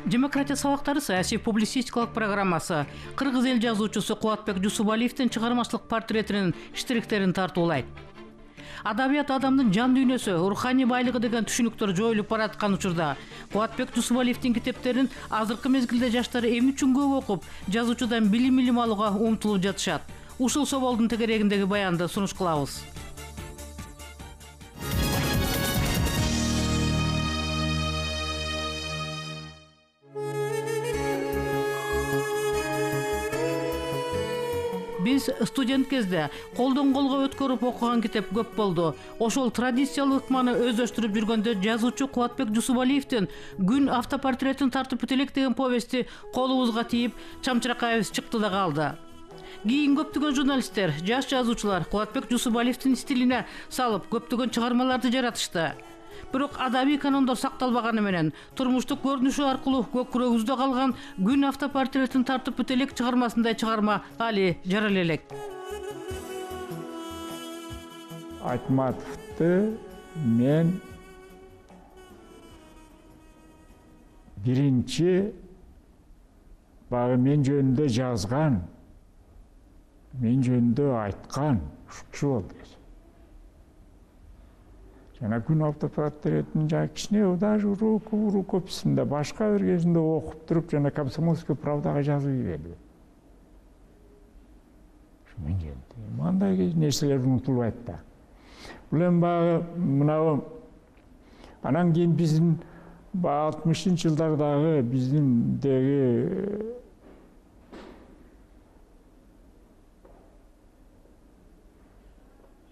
Демократия сабактары саясий публицистикалык программасы кыргыз эл жазуучусу Кубатбек Жусупалиевдин чыгармачылык портретинин иштириктерин тартуулайт. Адабият адамдын жан дүйнөсү, руханий байлыгы деген түшүнүктөр жоюлуп бараткан учурда Кубатбек Жусупалиевдин китептерин азыркы мезгилде жаштар эми үчүн көп окуп, жазуучудан билим алууга умтулуп жатышат. Ушул соболдун тегерегиндеги баянды сунуш кылабыз. Биз студент кезде колдон колго өткөрүп окуган китеп көп болду. Ошол традициялык ыкманы өздөштүрүп жүргөндө жазуучу Кубатбек Жусупалиевдин Күн автопортретин тартып бүтелек деген повести колубузга тийип, чамчыракайыбыз чыкты да калды. Кийин көптөгөн журналисттер, жаш жазуучулар Кубатбек Жусупалиевдин стилине салып көптөгөн чыгармаларды жаратышты. Бирок адабий канондор сакталбаганы менен турмуштук көрүнүшү аркылуу көкүрөгүбүздө калган Күн автопортретин тартып бүтелек чыгармасындай чыгарма али жарала элек. Айтматовду мен биринчи багы мен жөнүндө жазган, мен жөнүндө айткан ушул болду. Жана Күн автопортретин кичине даже рукописинде башка бир кезинде окуп туруп жана Комсомольская правдага жазып ийбеди. Мен жөнүндө мындай нерселер унутулбайт да. Бул эми баягы мынабу анан кийин биздин 60-жылдардагы биздиндеги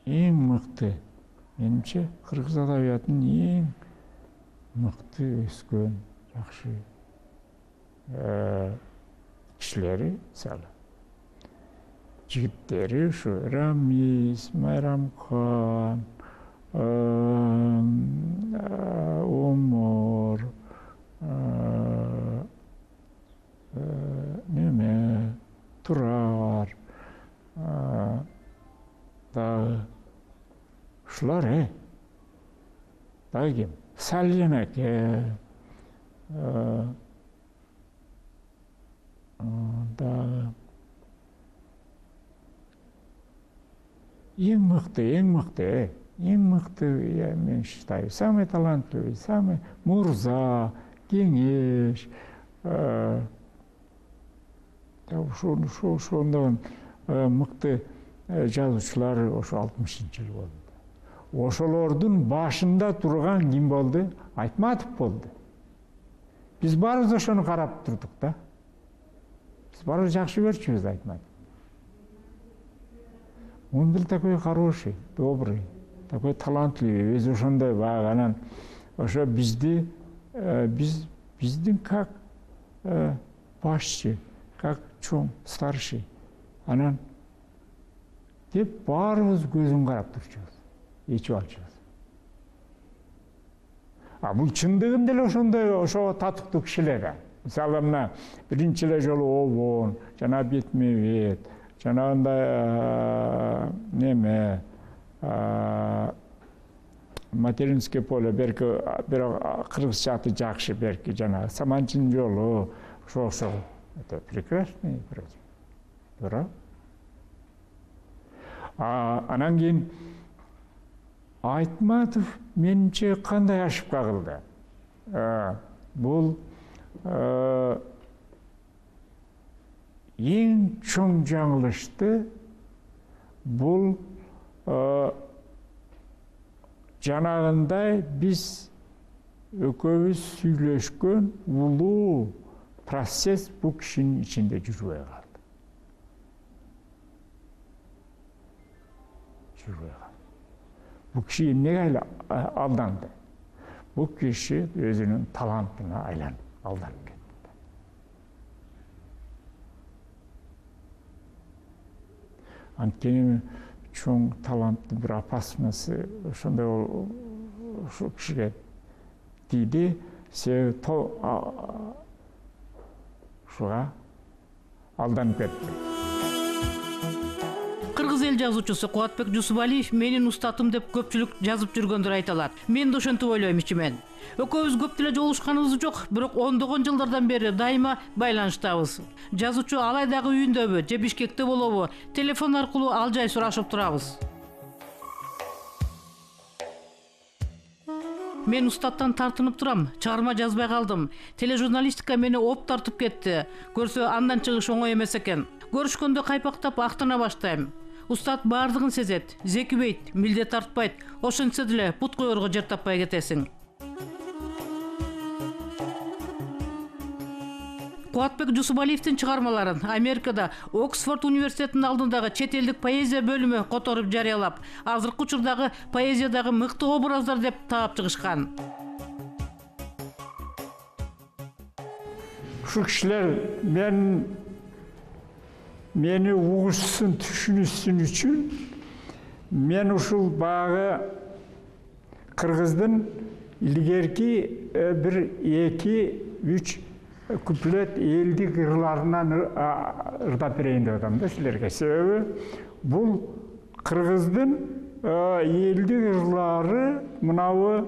эң мыкты, менимче кыргыз адабиятынын эң мыкты өскөн жакшы кишилери, мисалы жигиттери ушу Рамиз, Майрамкан, Омор, Турар, дагы ушулар, дагы ким? Салин аке, дагы эң мыкты, я мен считаю, самый талантливый, самый Мурза, Кеңеш, ошондон мыкты жазуучулар ошо 60-жыл болду. Ошолордун башында турган ким болду? Айтматов болду. Биз баарыбыз ошону карап турдук да. Биз баарыбыз жакшы көрчүбүз Айтматов. Он был такой хороший, добрый, такой талантливый, весь ошондой баягы анан ошо биздин как башчы, как чоң, старший, анан деп баарыбыз көзүн карап турчубуз, ичип алчубуз. Бул чындыгында эле ошондой ошого татыктуу кишилер. Мисалы мына биринчи эле жолу Обон, жана Бетмебет, жанагындай Материнское поле, берки кыргызча аты жакшы, берки жана Саманчынын жолу, ошо это прекрасный проект. Туура. Анан кийин Айтматов менимче кандай ошибка кылды? Бул эң чоң жаңылышты бул жанагындай биз экөөбүз сүйлөшкөн улуу процесс бул кишинин ичинде жүрбөй калды. Бул киши эмнеге алданды? Бул киши өзүнүн талантына алданып кетти. Анткени чоң таланттын бир опасности ошондой ушул кишиге тийди, себеби ушуга алданып кетти. Кыргыз эл эл жазуучусу Кубатбек Жусупалиев менин устатым деп көпчүлүк жазып жүргөндөр айта алат. Мен да ошентип ойлойм ичимен. Экөөбүз көп деле жолугушканыбыз жок, бирок ондогон жылдардан бери дайыма байланыштабыз. Жазуучу Алайдагы үйүндөбү же Бишкекте болобу, телефон аркылуу ал жай сурашып турабыз. Мен устаттан тартынып турам, чыгарма жазбай калдым. Тележурналистика мени оп тартып кетти. Көрсө андан чыгыш оңой эмес экен. Көрүшкөндө кайпактап актана баштайм. Устат баардыгын сезет, зекибейт, милдет тартпайт. Ошентсе деле бут коерго жер таппай кетесиң. Кубатбек Жусупалиевдин чыгармаларын Америкада Оксфорд университетинин алдындагы чет элдик поэзия бөлүмү которуп жарыялап, азыркы учурдагы поэзиядагы мыкты образдар деп таап чыгышкан. Ушул кишилер мени угушсун, түшүнүшсүн үчүн мен ушул багы кыргыздын илгерки бир 2-3 куплет элдик ырларынан ырдап берейин деп атам да силерге. Себеби бул кыргыздын элдик ырлары мынабы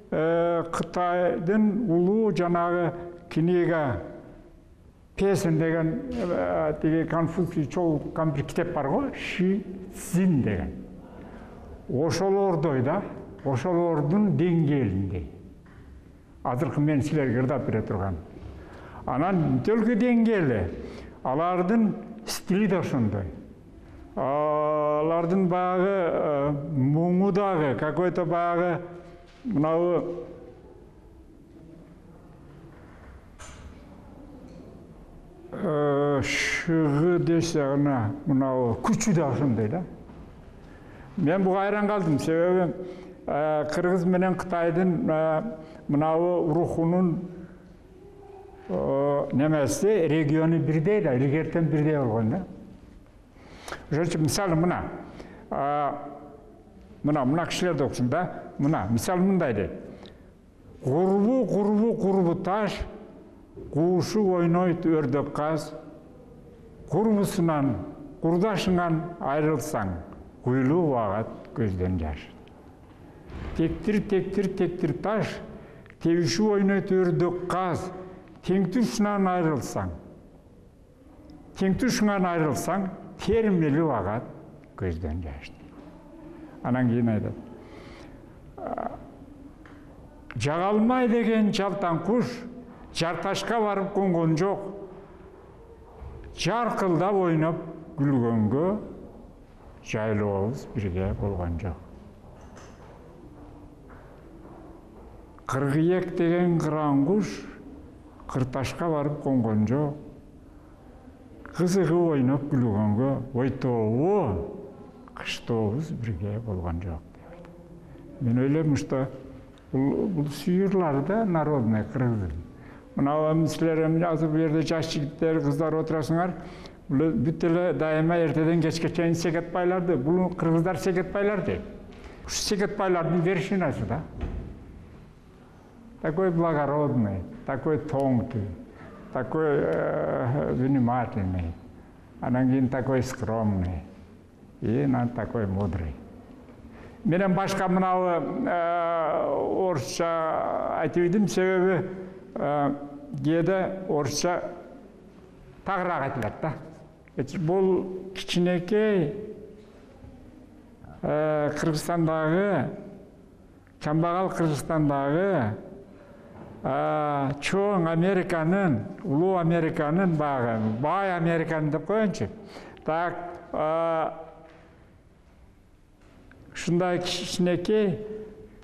Кытайдын улуу жанагы книга песен деген тиги Конфуций чогулткан бир китеп бар го, Ши Цзин деген. Ошолордой да, ошолордун деңгээлиндей. Азыркы мен силерге ырдап бере турган. Анан төлкү деңгээли, алардын стили да ошондой. Алардын багы муңу дагы, какой-то багы мынабы шыгы десе ана мынабы күчү да ошондой да. Мен буга айран калдым, себеби Кыргыз менен Кытайдын мынабы рухунун немеси региону бирдей да, илгертен бирдей болгон да. Ошон үчүн мисалы мына кишилерди окусуң да. Мына мисалы мындай дейт. Курбу таш, куушу ойнойт өрдөк каз. Курбусунан, курдашыңан айрылсаң, куйлуу багат көздөн жаш. Тектир таш, тебишүү ойнойт өрдөк каз. Теңтүшүнөн айрылсаң, термели багат көздөн жаш. Анан кийин айтат. Жагалмай деген жалтан куш, жарташка барып конгон жок. Жаркылдап ойноп күлгөнгө, жайлообуз бирге болгон жок. Кыргыек деген кыран куш, кырташка барып конгон жок. Кызыгып ойноп күлгөнгө, ойтобу, кыштобуз бирге болгон жок. Мен ойлойм, что бул сүйүрлөр да народный кыргыздын. Мына силер азыр бул жерде жаш жигиттер, кыздар отурасыңар, бул бүт эле дайыма эртеден кечке чейин секетпайларды, бул кыргыздар секетпайлар дейт. Ушу секетпайлардын вершинасы да. Такой благородный, такой тонкий, такой внимательный, анан кийин такой скромный и такой мудрый. Менен башка мынабы орусча айтып идим, себеби кээде орусча тагыраак айтылат да. Бул кичинекей Кыргызстандагы, чамбагал Кыргызстандагы чоң Американын, улуу Американын багы, бай Американы деп коеюнчу. Так, ушундай кичинекей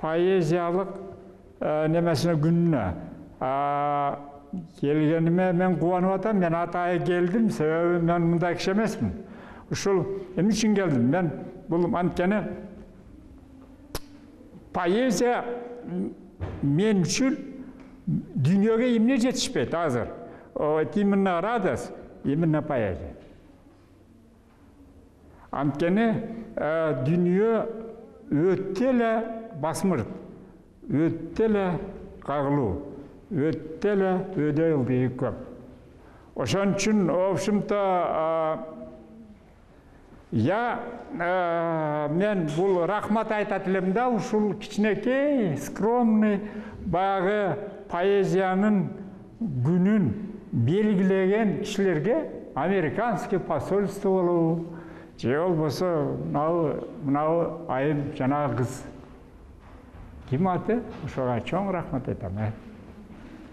поэзиялык немесине күнүнө келгениме мен кубанып атам. Мен атайы келдим, себеби мен мындай киши эмесмин. Ушул эмне үчүн келдим? Мен бул анткени поэзия мен үчүн дүйнөгө эмне жетишпейт азыр? Именно радость, именно поэзия. Анткени дүйнө өтө эле басмырт, өтө эле кагылуу, өтө эле өйдө ылдыйы көп. Ошон үчүн, в общем-то, Мен бул рахмат айтат элем да, ушул кичинекей, скромный баягы поэзиянын күнүн белгилеген кишилерге американский посольство болобу, же болбосо мынау айым жанагы кыз ким аты, ошого чоң рахмат айтам.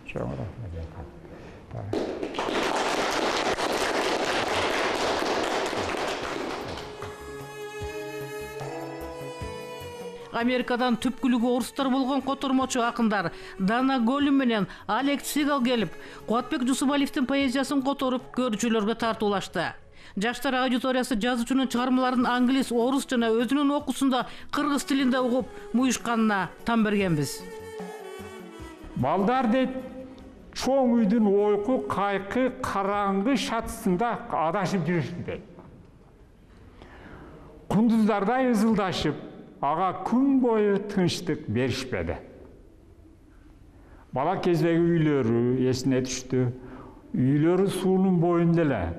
Чоң рахмат айтам. Америкадан түпкүлүгү орустар болгон котормочу акындар Дана Голин менен Алек Сигал келип, Кубатбек Жусубалиевдин поэзиясын которуп, көрүүчүлөргө тартуулашты. Жаштар аудиториясы жазуучунун чыгармаларын англис, орус жана өзүнүн окуусунда кыргыз тилинде угуп муюшканына тан бергенбиз. Балдар дейт, чоң үйдүн ойку, кайкы, караңгы шатысында адашып жүрүштү дейт. Кундуздардай ызылдашып, ага күн бою тынчтык беришпеди. Бала кездеги үйлөрү эсине түштү. Үйлөрү суунун боюнда эле.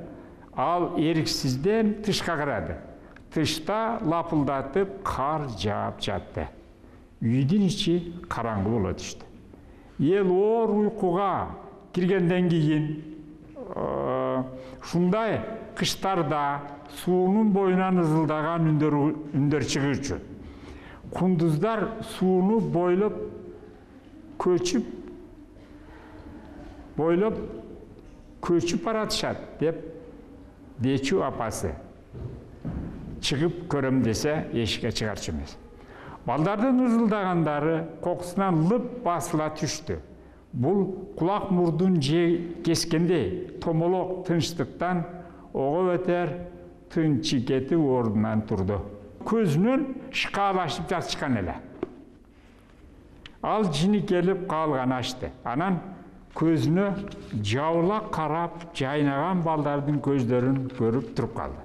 Ал эриксизден тышка карады. Тышта лапылдатып кар жаап жатты. Үйдүн ичи караңгы боло түштү. Эл оор уйкуга киргенден кийин ушундай кыштарда суунун боюнан ызылдаган үндөр чыгуучу. Кундуздар сууну бойлоп көчүп баратышат деп дечү апасы. Чыгып көрөм десе эшикке чыгарчу эмес. Балдардын ызылдагандары кокусунан лып басыла түштү. Бул кулак мурдун же кескендей томолок тынчтыктан ого өтер тынчы кетип ордунан турду. Көзүнөн шкалашып жатышкан эле. Ал жини келип калган ачты. Анан көзүнө жабыла карап жайнаган балдардын көздөрүн көрүп туруп калды.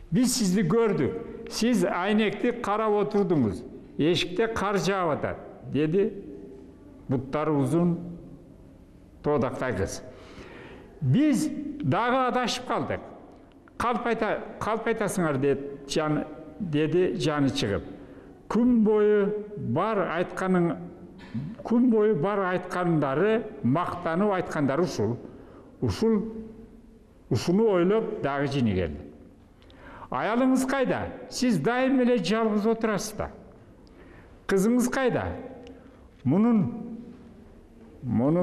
Биз сизди көрдүк. Сиз айнекти карап отурдуңуз. Эшикте кар жаап атат, деди буттары узун тоодактай кыз. Биз дагы адашып калдык. Калп айтасыңар деди жаны чыгып. Күн бою бар айткандары, мактанып айткандары ушуну ойлоп дагы жини келди. Аялыңыз кайда? Сиз дайым эле жалгыз отурасыз да. Кызыңыз кайда? Мунун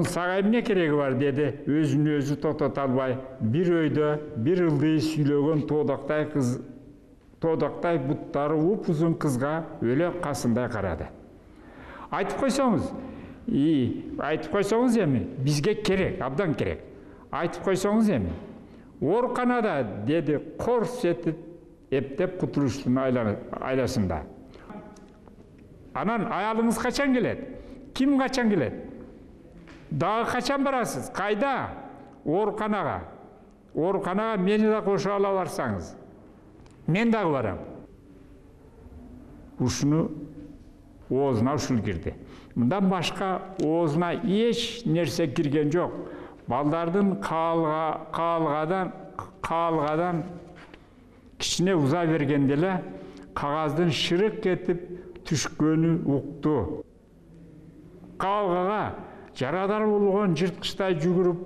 сага эмне кереги бар, деди өзүн өзү токтото албай. Бир өйдө бир ылдый сүйлөгөн тоодактай буттары упузун кызга өлө касындай карады. Айтып койсоңуз эми, бизге керек, абдан керек. Айтып койсоңуз эми. Ооруканада, деди корс этип эптеп кутулуштун айласында. Анан аялыңыз качан келет? Ким качан келет? Дагы качан барасыз? Кайда? Ооруканага. Ооруканага мени да кошо ала барсаңыз. Мен дагы барам. Ушуну оозуна ушул кирди. Мындан башка оозуна эч нерсе кирген жок. Балдардын каалгадан кичине уза бергенде эле кагаздын шырык этип түшкөнү укту. Каалгага жарадар болгон жырткычтай жүгүрүп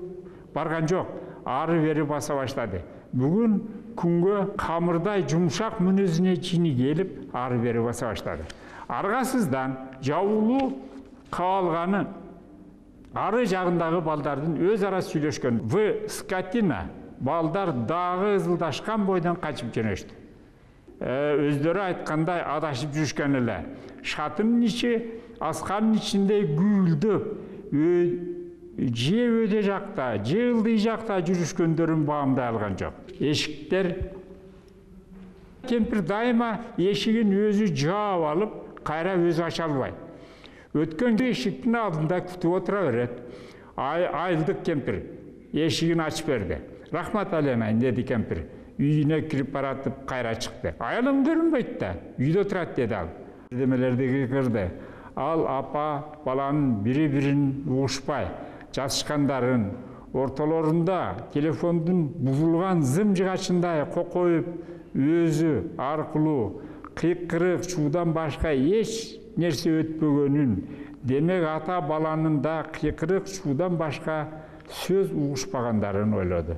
барган жок, ары бери баса баштады. Бүгүн күнгө камырдай жумшак мүнөзүнө жини келип, ары бери баса баштады. Аргасыздан жабуулуу каалганын ары жагындагы балдардын өз ара сүйлөшкөн скотина балдар дагы ызылдашкан бойдон качып жөнөштү. Өздөрү айткандай адашып жүрүшкөн эле. Шатынын ичи асканын ичинде гүлдөп, же өйдө жакта, же ылдый жакта жүрүшкөндөрүн баамдай алган жок. Эшиктер кемпир дайыма эшигин өзү жаап алып, кайра өзү ача албайт. Өткөн эшиктин алдында күтүп отура берет. Айылдык кемпир эшигин ачып берди. Рахмат алеймин, деди кемпир. Үйүнө кирип баратып кайра чыкты. Аялым көрүнбөйт да, үйдө турат, деди ал. Демелерди кырды. Ал апа баланын бири-бирин угушпай, жасышкандарын, ортолорунда телефондун бузулган зым жыгачындай кокоюп өзү аркылуу кыйкырык шуудан башка эч нерсе өтпөгөнүн, демек ата баланын да кыйкырык шуудан башка сөз угушпагандарын ойлоду.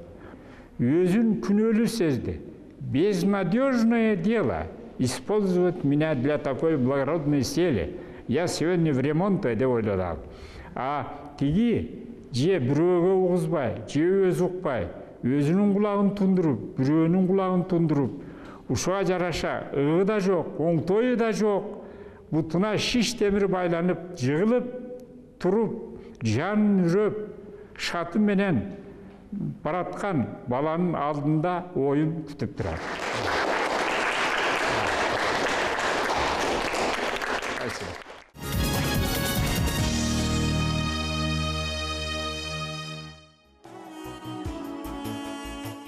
Өзүн күнөөлүү сезди. Безнадежное дело использовать меня для такой благородной цели. Я сегодня в ремонте деп ойлоду ал. А тиги же бирөөгө угузбай, же өзү укпай, өзүнүн кулагын тундуруп, бирөөнүн кулагын тундуруп, ушуга жараша ыгы да жок, оңтою да жок, бутуна шиш темир байланып, жыгылып туруп, жан үрөп, шаты менен бараткан баланын алдында оюн күтүп турат.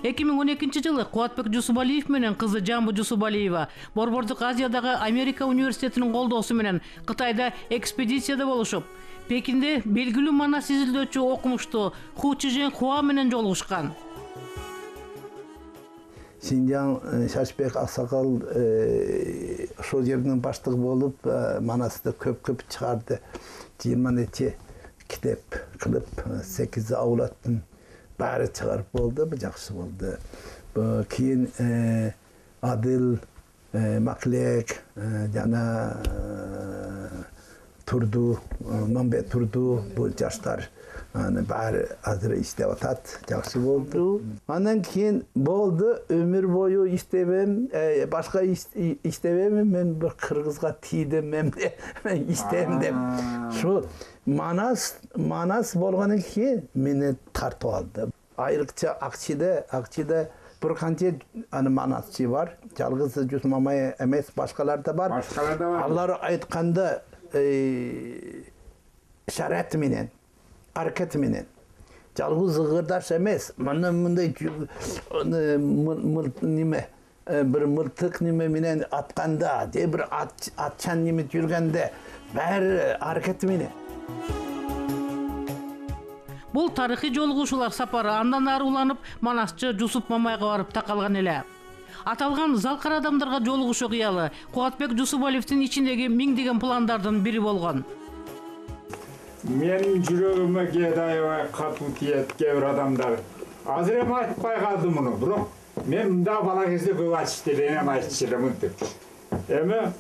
2012 жылы Кубатбек Жусубалиев менен кызы Жамбы Жусубалиева Борбордук Азиядагы Америка университетинин колдоосу менен Кытайда экспедицияда болушуп, Пекинде белгилүү манас изилдөөчү окумуштуу Ху Чжэнхуа менен жолугушкан. Синжан Шашбек Аксакал ошол жердин баштыгы болуп, манасты көп чыгарды. 20 китеп кылып, 8 аулаттын баары чыгарып болду, бу жакшы болду. Кийин Адыл, Маклек, жана Турду, Мамбет Турду, бу жаштар баары азыр иштеп атат, жакшы болду. Андан кийин болду, өмүр бою иштебем, башка иштебем, мен бир кыргызга тийдим, мен иштейм деп. Шу манас болгондон кийин мени тартып алды. Айрыкча Акчиде bir kancha manasçı var. Жалгыз Жусуп Мамай эмес, башкалар да бар. Алар айтканда шарат менен, аракет менен. Жалгыз ыгырдаш эмес. Мындай неме bir мылтык неме менен атканда, же bir атчан неме жүргөндө баары аракет менен. Бул тарыхый жолугушуулар сапары андан ары уланып, манасчы Жусуп Мамайга барып такалган эле. Аталган залкар адамдарга жолугушуу кыялы Кубатбек Жусубалиевдин ичиндеги миңдеген пландардын бири болгон. Менин жүрөгүмө кээде аябай катуу тиет кээ бир адамдар. Азыр эми айтпай калдым муну, бирок мен мында бала кезде көп айтып элем, айтчу элем мынтип. Эми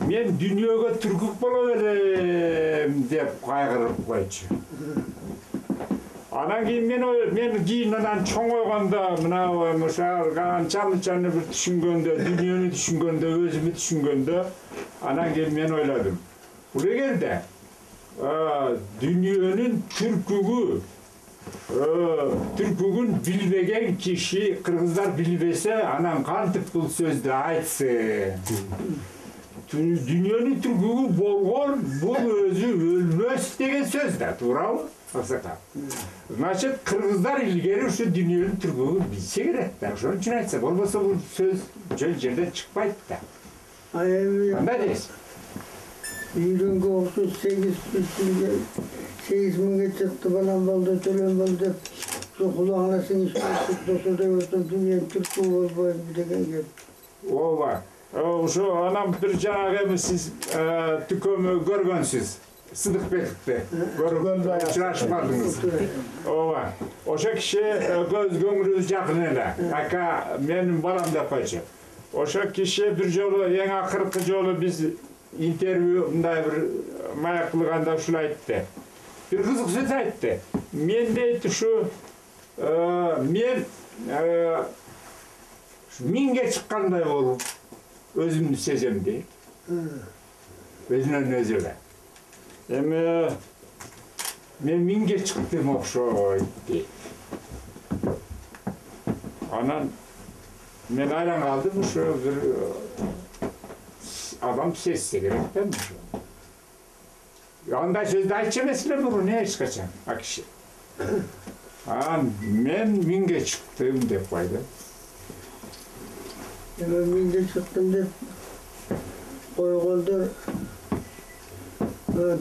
мен дүйнөгө түркүк боло берем деп кайгырып койчу. Анан кийин мен кийин анан чоңойгондо мына ошо канчаны бир түшүнгөндө, дүйнөнү түшүнгөндө, өзүмү түшүнгөндө, анан кийин мен ойлодум. Бул эгерде дүйнөнүн түркүгүн билбеген киши, кыргыздар билбесе, анан кантип бул сөздү айтсы? Дүйнөнүн түркүгү болгон, бул өзү өлмөс деген сөз да, туурабы? Значит, кыргыздар илгери ушу дүйнөнүн түркүгүн билсе керек да, ошон үчүн айтса, болбосо бул сөз жөн жерден чыкпайт да. Кандай дейсиз? Үйрөнгө окшош 8 миңге чыкты, балам болду, төлөм болду деп, кулагына сиңишип, досудай болсун, дүйнөнүн түркүгү болбойт деген геп. Ооба. Ошо анан бир жанагы сиз түкөмө көргөнсүз. Сыдыкбековди көргөндө учурашмадыңыз. Ооба. Ошо киши көңүлүбүз жакын эле. Ака менин балам деп койчу. Ошо киши бир жолу, эң акыркы жолу биз интервью мындай бир маяк кылганда ушул айтты. Бир кызык сөз айтты. Мен дейт ушу мен миңге чыккандай болуп өзүмдү сезем дейт. Өзүнөн өзү эле. Эми мен миңге чыктым окшойт дейт. Анан мен айран калдым, ушу бир адам сезсе керек да ушу. Андай сөздү айтчу эмес эле мурун эч качан акиши. Анан мен миңге чыктым деп койду. Миңге чыктым деп койгондор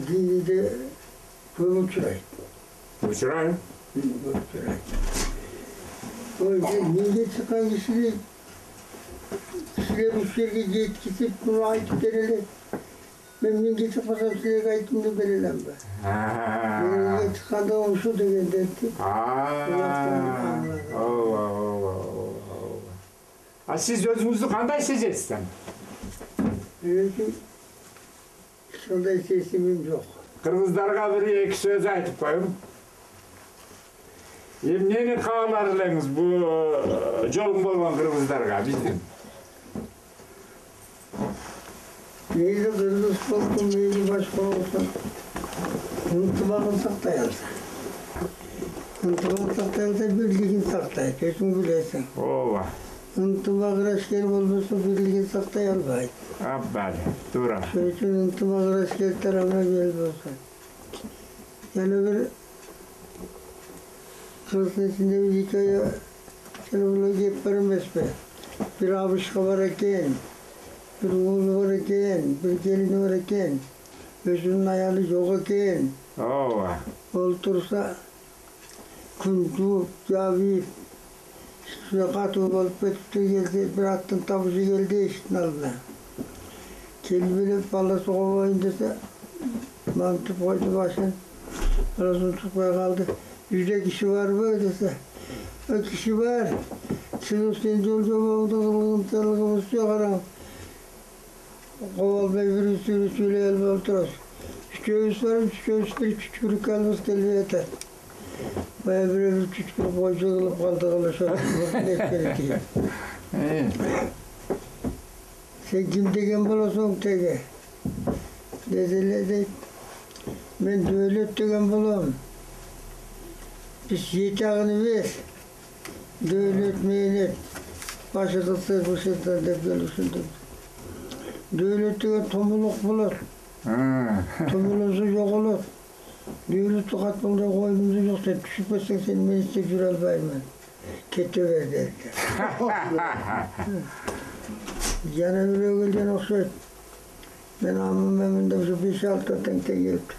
диниде Көп учурайт. Учурайм. Көп учурайт. Ой, менде чыккан кишилер уш жерге жеткизип, муну айтып берели. Мен менде чыкпасам силерге айтымды бере алам ба? Менде чыкканда ушу дегенде. А сиз өзүңүздү кандай сезесиз? Өзүм ошондой сезимим жок. Кыргыздарга бир эки сөз айтып коеюн. Эмнени каалар элеңиз бул жолун болгон кыргыздарга биздин? Мейли кыргыз болсун, мейли башка болсун, ынтымагын сактай алса. Ынтымагын сактай алса, бирлигин сактайт, өзүң билесиң. Ооба. Ынтымак ырашкер болбосо бирлигин сактай албайт. Аббали, туура. Ошон үчүн ынтымак ырашкер тарабына бел болсун. Жана бир кыргыздын ичинде бир хикая телефонго кеп бар эмеспи? Бир абышка бар экен, бир уулу бар экен, бир келини бар экен, өзүнүн аялы жок экен. Ооба. Олтурса күн жууп, жабып, катуу болуп кетиптир, келди, бир аттын табышы келди эшиктин алдына. Келип элеп баласы кобойн десе, мантып койду башын, баласын тукпай калды. Үйдө киши барбы десе, киши бар. Чыгып сен жол жобоңду кылгынчылыгыбызчы караң. Коболбой бирибизди сүйлөй албай отурабыз. Үчөөбүз барып, үчөөбүз бир чүчкүрүк алыбыз келбей атат. Бая бирөө чүчкүрүк койчу кылып калдык ошо. Сен ким деген болосуң теге? Деди эле дейт. Мен Дөөлөт деген болом. Биз 7 агын бер. Дөөлөт менен башы кылса бушетан деп келишилди. Дөөлөт деген томулук болот. Томулусу жоголот. Дөөлөттү катмалдай койдумду жок, сен түшүп кетсең сен мен иштеп жүрө албаймын. Кете бер деди. Жана бирөө келген окшойт. Мен амым деп ушу 5-6 теңге келипти.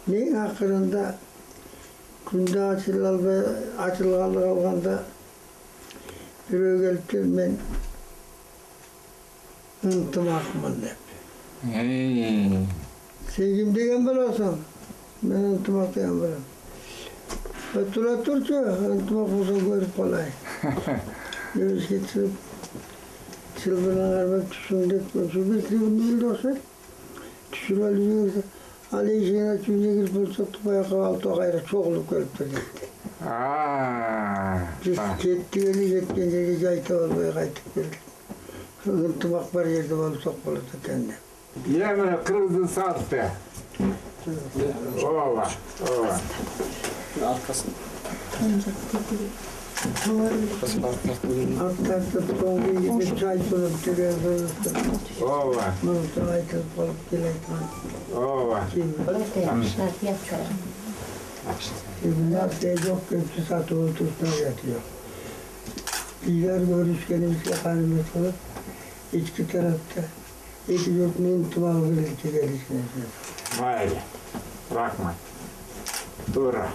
Эң акырында күндө ачылгалы калганда бирөө келипти, мен ынтымакмын деп. Сен ким деген болосуң? Мен ынтымак деген болом. Тура турчу, ынтымак болсо көрүп калайын. Өзгө чылбырдан кармап түшүң деп, ошо бир эле окшойт. Түшүрүп алып ал эшигин ачып үйгө кирип болсок, баягы алты кайра чогулуп келиптир депти. Биз кеттик эле, жеткен жерге жайта албай кайтып келдик. Ынтымак бар жерде болсок болот экен деп. Мына кыргыздын салты. Ооба, ооба. Аркасын. Аттартып соңғы чай болып жүрген Ооба. Мұны айтып қалып келетін. Ооба. Нәрсе жоқ, көпсі сатып отырсына жатıyor. Bizler görüşkenimizle kanımız kılıp, içki tarafta iki yurtun intimalı birlikte gelişine. Mayli. Rahmat. Tuğra.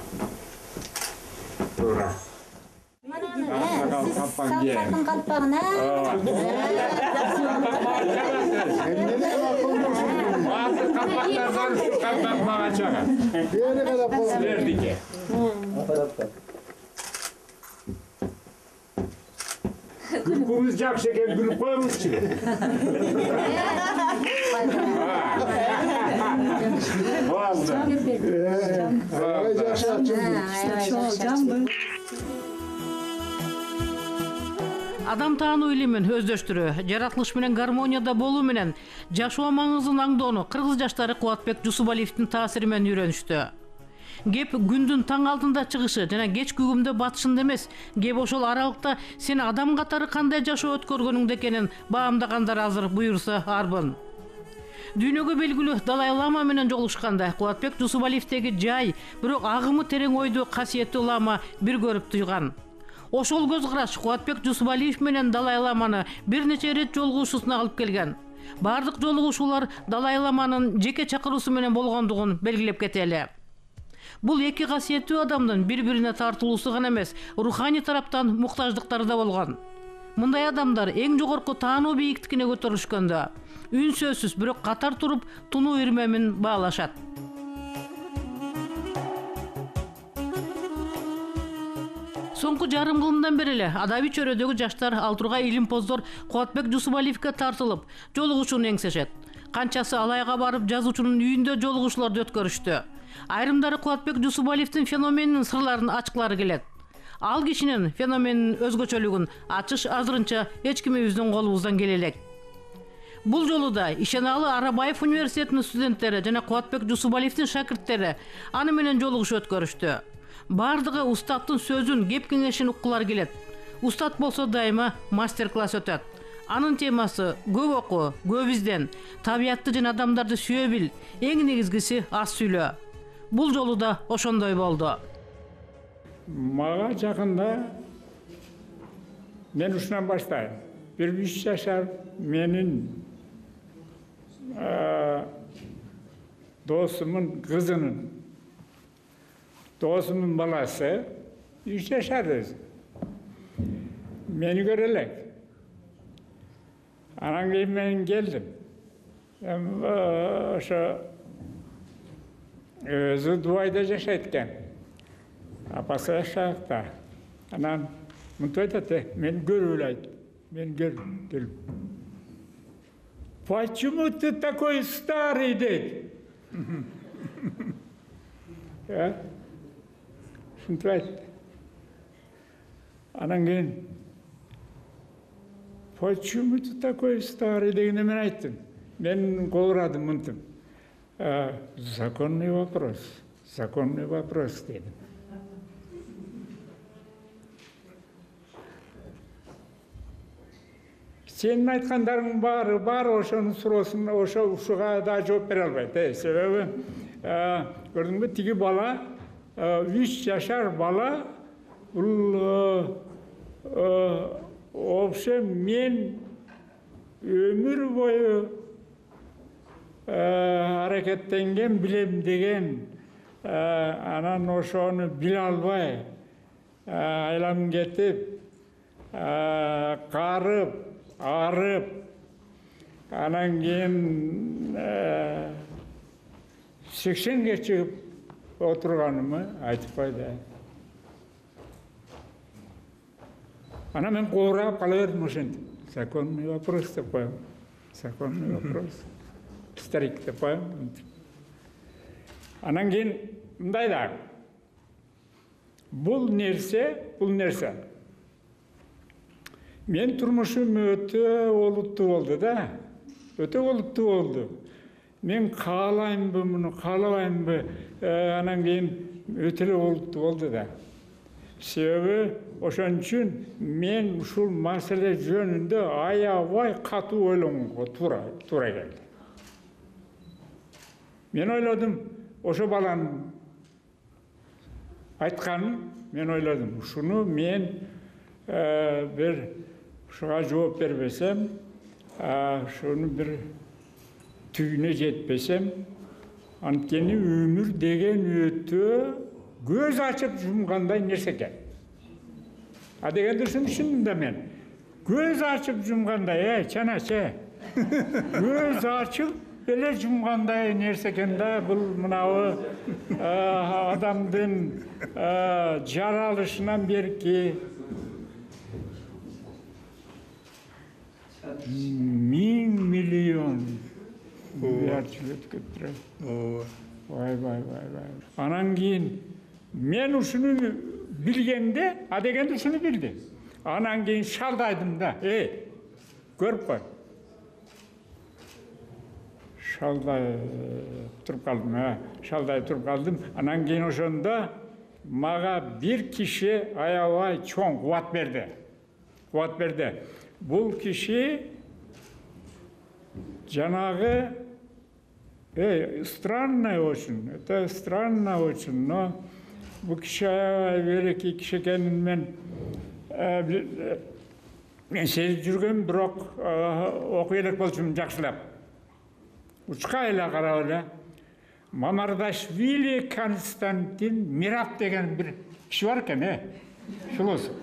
Tuğra. Siz salkardın kalpağına. Bazı kapaklardan şu kapak bana çakar. Sizderdeki. Gülkümüz jakşı ekan, gülüp koymuş ki. Oldu. Адам таануу илимин өздөштүрүү, жаратылыш менен гармонияда болуу менен жашоо маңызын аңдоону кыргыз жаштары Кубатбек Жусубалиевдин таасири менен үйрөнүштү. Кеп күндүн таң алдында чыгышы жана кечки күгүмдө батышында эмес, кеп ошол аралыкта сен адам катары кандай жашоо өткөргөнүңдө экенин баамдагандар азыр буюрса арбын. Дүйнөгө белгилүү Далай Лама менен жолугушканда Кубатбек Жусубалиевдеги жай, бирок агымы терең ойду касиеттүү лама бир көрүп туйган. Ошол көз караш Кубатбек Жусубалиев менен Далай Ламаны бир нече ирет жолугушуусуна алып келген. Бардык жолугушуулар Далай Ламанын жеке чакыруусу менен болгондугун белгилеп кетели. Бул эки касиеттүү адамдын бири-бирине тартылуусу гана эмес, руханий тараптан муктаждыктары да болгон. Мындай адамдар эң жогорку таануу бийиктигине көтөрүлүшкөндө үн сөзсүз бирок катар туруп тунуу ирмемин баалашат. Соңку жарым кылымдан бери эле адаби чөйрөдөгү жаштар ал тургай илимпоздор Кубатбек Жусубалиевге тартылып, жолугушууну эңсешет. Канчасы Алайга барып жазуучунун үйүндө жолугушууларды өткөрүштү. Айрымдары Кубатбек Жусубалиевдин феноменинин сырларын ачкылары келет. Ал кишинин феноменинин өзгөчөлүгүн ачыш азырынча эч кимибиздин колубуздан келе элек. Бул жолу да Ишеналы Арабаев университетинин студенттери жана Кубатбек Жусубалиевдин шакирттери аны менен жолугушуу өткөрүштү. Бардыгы устаттын сөзүн, кеп кеңешин уккулары келет. Устат болсо дайыма мастер-класс өтөт. Анын темасы көп оку, көп изден, табиятты жана адамдарды сүйө бил, эң негизгиси аз сүйлө. Бул жолу да ошондой болду. Мага жакында мен ушунан баштайм. 3 жашар менин досумун кызынын досумун баласы 3 жашар өзү. Мени көрө элек. Анан кийин мен келдим. Ошо өзү Дубайда жашайт экен. Апасы жашакта. Анан мынтип айтат, мен көрүп эле айт. Мен келдим. Почему ты такой старый, дейт. Шунтип айтты. Анан кийин почему ты такой старый дегенде мен айттым. Мен кол урадым мынтип. Законный вопрос дедим. Сенин айткандарың бар ошонун суроосун ушуга да жооп бере албайт. Себеби көрдүңбү, тиги бала 3 жашар бала, бул вообще мен өмүр бою аракеттенген, билем деген, анан ошону биле албай айланып кетип, карып, арып, анан кийин 80ге чыгып отурганымы айтып койду. Анан мен коорап кала бердим ошентип. Законный вопрос деп коем. Законный вопрос. Старик деп коем. Анан кийин мындай да. Бул нерсе. Мен турмушум өтө олуттуу болду да. Өтө олуттуу болду. Мен каалаймбы, муну каалабаймбы, анан кийин өтө эле олуттуу болду да. Себеби ошон үчүн мен ушул маселе жөнүндө аябай катуу ойлонууга туура келди. Мен ойлодум, ошо баланын айтканын мен ойлодум. Ушуну мен бир ушуга жооп бербесем, ушуну бир түгүнө жетпесем, анткени өмүр деген өтө көз ачып жумгандай нерсе экен. Дегенди түшүндүм да мен. Көз ачып жумгандай, чана-че. Көз ачып эле жумгандай нерсе экен да, бул мынабы адамдын жаралышынан берки 1000 миллион жарчылык өткөрүп. Vay. Анан кийин мен ушуну билгенде, дегенде ушуну билди. Анан кийин шалдайдым да. Көрүп кой. Шалдай туруп калдым. Анан кийин ошондо мага бир киши аябай чоң кубат берди. Бул киши жанагы странно очень, это странно очень, но бул киши великий киши экенин мен сезип жүргөм, бирок окуй элек болчумун жакшылап. Учка эле карап эле. Мамардашвили Константин Мирап деген бир киши бар экен, философ.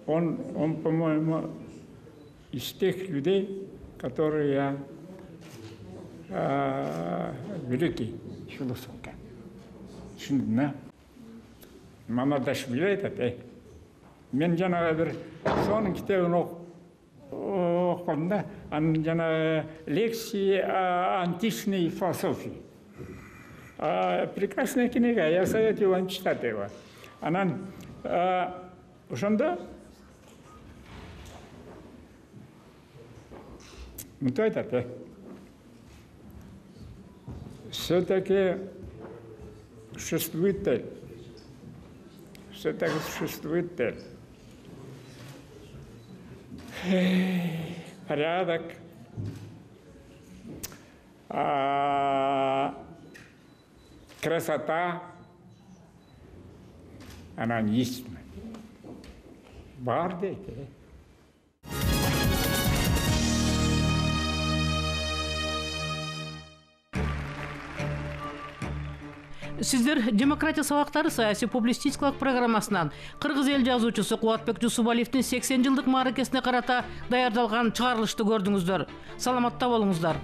Он, по-моему, из тех людей, которые я великий философ. Шындына. Мамардашвили айтат, мен жанагы бир сонун китебин окудум да, анын жанагы лекции о античной философии. Прекрасная книга, я советую вам читать его. Анан ошондо мынтип айтат, все-таки существует цель. Все-таки существует цель. Порядок, красота, она истинна. Бар дейт. Сиздер демократия сабактары саясий публицистикалык программасынан кыргыз эл жазуучусу Кубатбек Жусупалиевдин 80 жылдык мааракесине карата даярдалган чыгарылышты көрдүңүздөр. Саламатта болуңуздар.